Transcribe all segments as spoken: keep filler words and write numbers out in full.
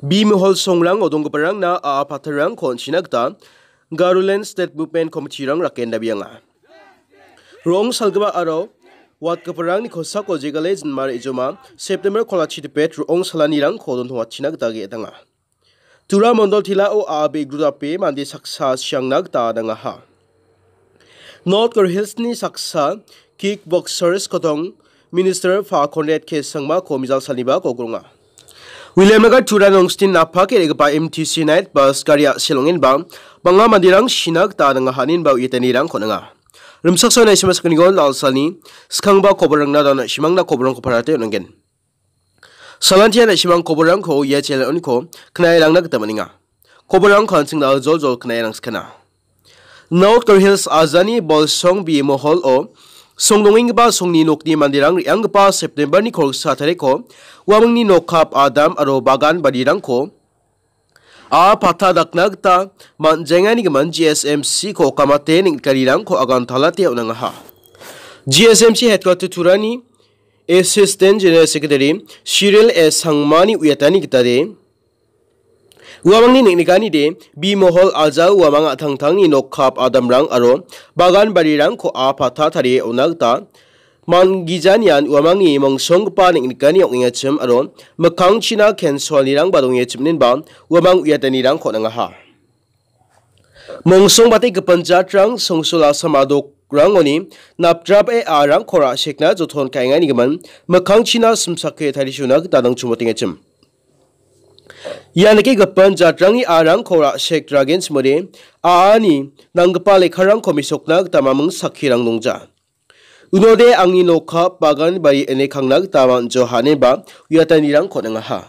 Bimihol songrango donggiparangna a·a patarangko on·china gita Garoland State Movement Committee-rang raken dabianga. Ro·ong salgipa aro watgiparangni kosako jegale jinma re·joma September kolachi dipet ro·ong salanirangko dontongatchina gita ge·etanga. Tura mondol tilao a·a be·grudape mande saksa siangna gita dangaha. North Garo Hills-ni saksa kickboxers kotong Minister Pa Conrad K Sangmako mijal salniba kogronga. Williamnagar Tura Nongstin napake re·gipa M T C night bus gari a·selongenba bang·a manderang sina gita dangaha ninba uitanirangko ninga. Rimsaksa naisima sakgnigon lalsalni skangba koborangna dana simangna koborangko parate on·angen. Salantia nasimang koborangko ia channel-oniko knairangna gita man·enga. Koborangko an·chingna joljol knairangskana. North Garo Hills ajani Bolsong B Mohol-o songdongenggipa songni nokni manderang re·anggipa September-ni kolgsa tariko uamangni nokkap adam aro bagan barirangko a·a patta dakna gita man·jaengani gimin G S M C-ko kamate neng·nikanirangko agantalate on·angaha. G S M C headquarter Turani Assistant General Secretary Cyril S Sangmani uiatani gitade, uamangni neng·nikanide, B Mohol ajao uamang a·tangtangni nokkap adamrang aro bagan barirangko a·a patta tarie on·a gita man·gijanian uamangni mongsonggipa neng·nikani ong·engachim aro mikkangchina kensoanirangba dongengachim ninba uamang uiatanirangko on·angaha. Mongsongbate gipin jatrang songsul Assam adokrangoni napdrape a·arangko ra·sekna joton ka·engani gimin mikkangchina simsake tarichona gita nangchimotengachim. Ia nike gipin jatrangni a·arangko ra·sek ragenchimode a·ani nanggipa lekkarangko mesokna gita maming sakkirang dongja. Unode angni nokka bagan bari ine kangna gita man·jo haneba uiatanirangko on·angaha.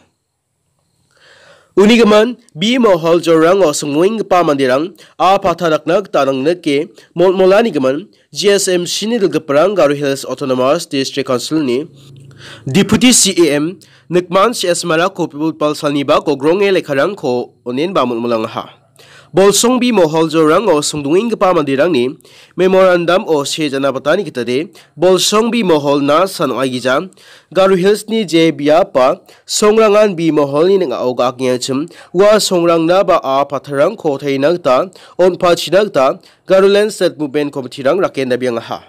Uni gimin, B Mohol jorango songmoenggipa manderang a·a patta dakna gita nangnike molmolani gimin, G S M C-ni dilgiparang Garo Hills Autonomous District Council-ni Deputy C E M Nikman C S Marako pibul palsalniba kogronge lekkarangko onenba molmolangaha. Bolsong B Mohol jorango songdongenggipa manderangni memorandum-o see jana batani gitade, Bolsong B Moholna san ong·aigija, Garo Hills-ni je biapa songrangan B Moholni ning·ao ga·akengachim, ua songrangna ba a patarangko taina gita, on·pachina gita, Garoland State Movement Committee-rang raken dabiangaha.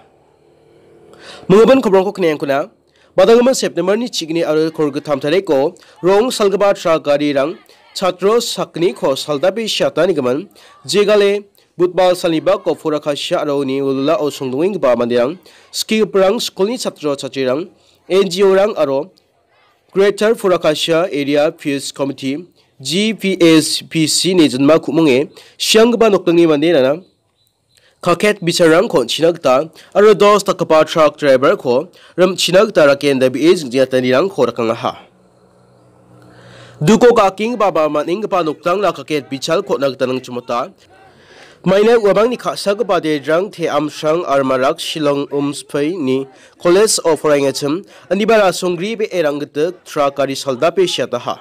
Minggimin kobrongko kniengkuna, badanggimin September-ni chigni aro kolgittam tariko rong salgipa trak garirang chatro sakgniko saldape siatanigimin, jegale Budbal salnibako Purakasia aro uni wilwilao songdongenggipa manderang, skigiparang, skulni chatro chatrirang, N G O-rang aro Greater Purakasia Area Peace Committee, G P S P C-ni jinma ku·monge sianggipa nokdingni manderangna kaket bicharangko on·china gita aro dos dakgipa trak driver-ko rim·china gita raken dabie jingjatanirangko rakangaha. Duko ga·akenggipa ba man·enggipa nokdangna kaket bichalko on·na gita nangchimota. Maina uamangni ka·sagipa Dedrang Te Amsrang Armarak Shillong Umspeini College-o poraiengachim, aniba rasonggribe eranggitik trak gari saldape siataha.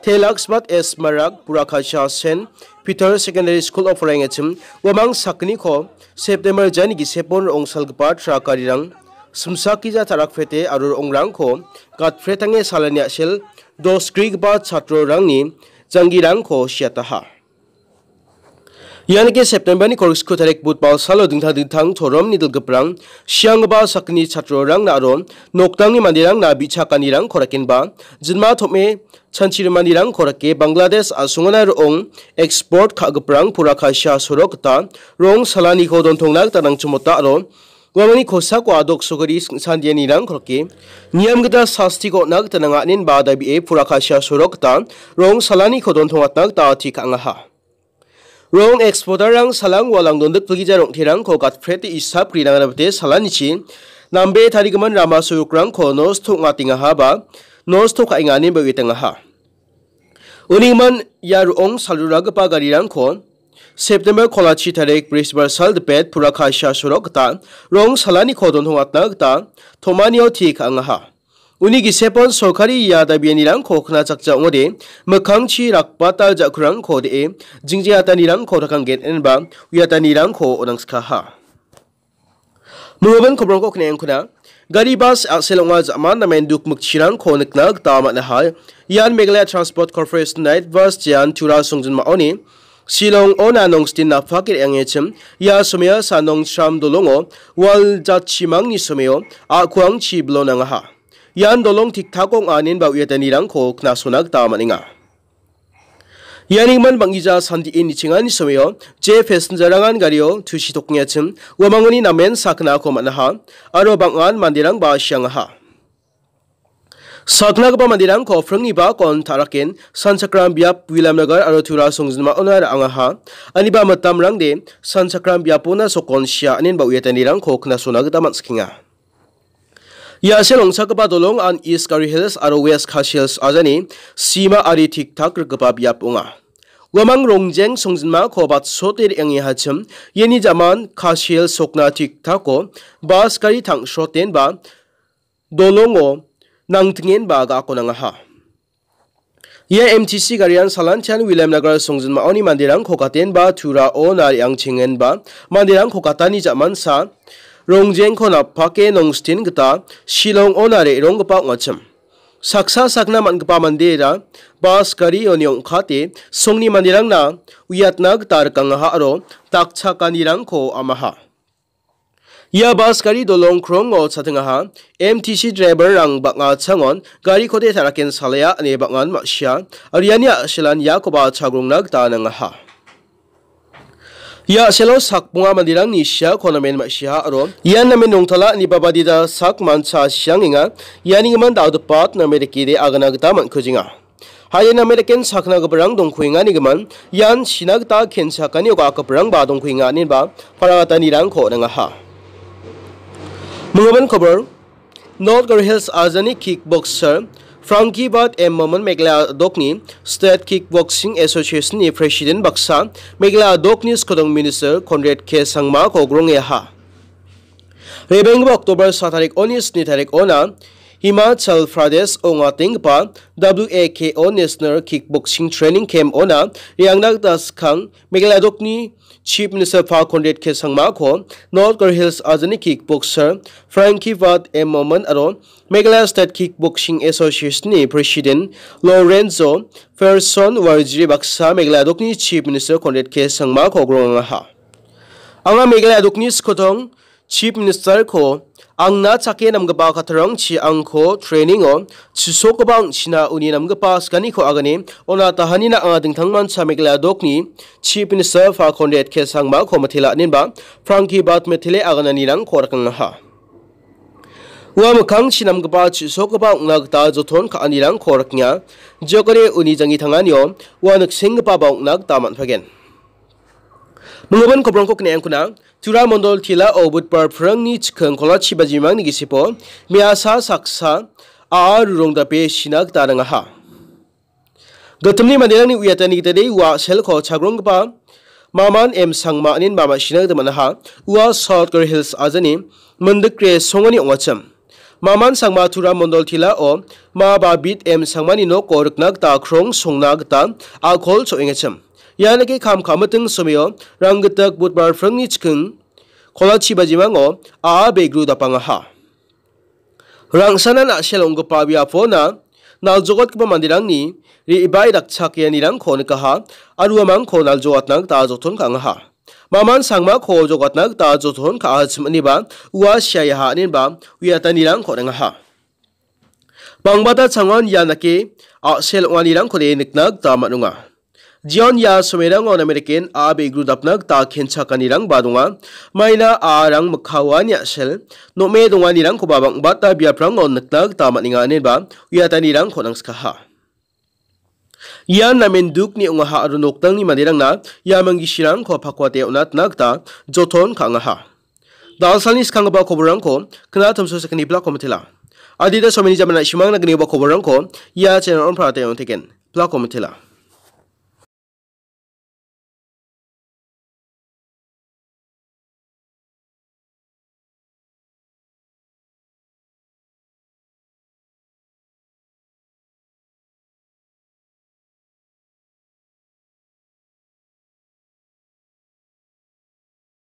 Te Laksmat S Marak, Purakasia Saint Peter Secondary School-o poraiengachim, uamang sakgniko September jani gisepon ro·ong salgipa trak garirang simsakgija ta·rakprete aro ro·ongrangko gatpretange salani a·sel dosgrigipa chatrorangni janggirangko siataha. Ianike September-ni kolgriksku tarik Budbal salo dingtang dingtang toromni dilgiparang sianggipa sakgni chatrorangna aro nokdangni manderangna bi·chakanirangko rakenba jinma tom·e chanchirimanirangko rake Bangladesh a·songona ro·ong eksport ka·giparang Purakasia sorok gita rong salaniko dontongna gita nangchimota aro uamangni kosako a·dok sogari singsandianirangko rake niam gita sastiko on·a gita nanga inen ba dabie Purakasia sorok gita rong salaniko dontongatna gita ati ka·angaha. Rong eksporter-rang salang walang dondikpilgija rong·terangko gatprete isap grinangna bite salanichi nambe tarigimin rama sorokrangko nosto ong·atengaha ba nosto ka·enga ineba uiatengaha. Unigimin ia ro·ong salroragipa garirangko September kolachi tarik Brisbar sal dipet Purakasia sorok gita rong salaniko dontongatna gita tom·anio ti ka·angaha. Uni gisepon sorkari ia dabianirangko knajakja ong·ode, mikkangchi rakbatal ja·kurangko de·e, jingjeatanirangko rakanggen enba uiatanirangko onangsikaha. Minggimin kobrongko knaengkuna, Gari bas a·sel ong·a ja·man namen dukmikchirangko nikna gita man·aha. Ian Meghalaya Transport Corporation Night Bus Jean Tura songjinmaoni Shillong-ona Nongstin napake re·angechim, ia somea Sanong Tram dolongo wal jatchimangni someo a·kuangchi bilonangaha. Ian dolong tiktako ong·a inenba uiatanirangko knasona gita man·enga. Ianigimin bang·gija sandie nichengani someo je passenger-rangan gario tusi tokengachim uamangoni namen saknako man·aha aro bang·an manderangba siangaha. Saknagipa manderangko pringni bakon ta·raken Sanchakram biap Williamnagar aro Tura songjinmaona ra·angaha. Aniba mitamrangde Sanchakram biapona sokon sia inenba uiatanirangko knasona gita man·sikenga. Ia a·sel ong·chakgipa dolong an East Khasi Hills aro West Khasi Hills ajani sima ari tik-tak rikgipa biap ong·a. Uamang rongjeng songjinmako batsote re·angehachim, iani jaman Khasi Hills sokna tik-tako bas gari tang·sotenba dolongo nangtingenba ga·ako nangaha. Ia M T C garian Salantian Williamnagar songjinmaoni manderangko gatenba Tura-ona re·angchengenba manderangko gatani ja·mansa rongjengko napake Nongstin gita Shillong-ona re·ronggipa ong·achim. Saksa sakna man·gipa mandera bas garioni ong·kate songni manderangna uiatna gita rikangaha aro dakchakanirangko amaha. Ia bas gari dolong krongo chatengaha. M T C driver-rang bang·a changon garikode taraken salea ine bang·an ma·sia. Aro iani a·selan iakoba chagrongna gita nangaha. Ia a·selo sakbonga manderangni siako namen ma·siaha aro ian namen rongtala ineba badida sak mancha siangenga. Ianigimin dal·gipa namen rikide agana gita man·kujenga. Haien American sakna giparang dongkuenganigimin ian sina gita kenchakani oga giparangba dongkuenga inenba paragatanirangko ringaha. Minggimin kobor, North Garo Hills ajani kickboxer Frankie Bat M Momin Meghalaya adokni State Kickboxing Association-ni President baksa Meghalaya adokni skodong Minister Conrad K Sangmako grongeaha. Rebenggipa October sa tarik oni sni tarik ona Himachal Pradesh ong·atenggipa W A K O National Kickboxing Training Camp ona re·angna gita skang Meghalaya adokni Chief Minister pa Conrad K Sangmako North Garo Hills ajani kickboxer Frankie Wat M Momin aro Meghalaya State Kickboxing Association-ni President Lorenzo Ferson Warjiri baksa Meghalaya adokni Chief Minister Conrad K Sangmako grongangaha. Anga Meghalaya adokni skotong Chief Minister-ko angna chake namgipa kattarangchi angko training-o chisokgipa ong·china uni namgipa sikaniko agane ona tahanina anga dingtangmancha Meghalaya adokni Chief Minister pa Conrad K Sangmako mitela inenba Frankie Bat mitele agananirangko rikangaha. Ua mikkangchi namgipa chisokgipa ong·na gita joton ka·anirangko rikenga. Jokode uni janggi tanganio ua niksenggipaba ong·na gita man·pagen. Minggimin kobrongko kne·angkuna, Tura Mondol Tila-o Budbar phrangni chiking kolachi bajimangni gisipo me·asa saksa a·a rurong dape sina gita ringaha. Gittimni manderangni uiatani gitade ua a·selko chagronggipa Maman M Sangma inenba ma·sina gita man·aha. Ua South Garo Hills ajani Mindikre songoni ong·achim. Maman Sangma Tura Mondol Tila-o Ma Babit M Sangmani noko rikna gita krong songna gita a·kol cho·engachim. Ianike kam ka·miting somio Ranggitik Budbar phrangni chiking kolachi bajimango a·a begru dapangaha. Rangsanan a·sel ong·gipa biapona naljogatgipa manderangni re·bae dakchakeanirangko nikaha aro uamangko naljogatna gita joton ka·angaha. Maman Sangmako jogatna gita joton ka·achim iniba ua siaha inenba uiatanirangko ringaha. Bangbata changon ia dake a·sel ong·anirangkode nikna gita man·onga. Jion ia somerango American a·a begru dapna gita kenchakanirangba donga. Maina a·arang mikkaoani a·sel, nome donganirangkoba bangbata biaprango nikna gita man·enga inenba uiatanirangko nangskaha. Ian namen dukni ong·aha aro nokdangni manderangna ia manggisirangko pakwate on·atna gita joton ka·angaha. Dalsalni skanggipa koborrangko kna tomso sekani plako mitela. Adita someni jamana simangna gnigipa koborrangko ia channel on prate on teken. Plako mitela.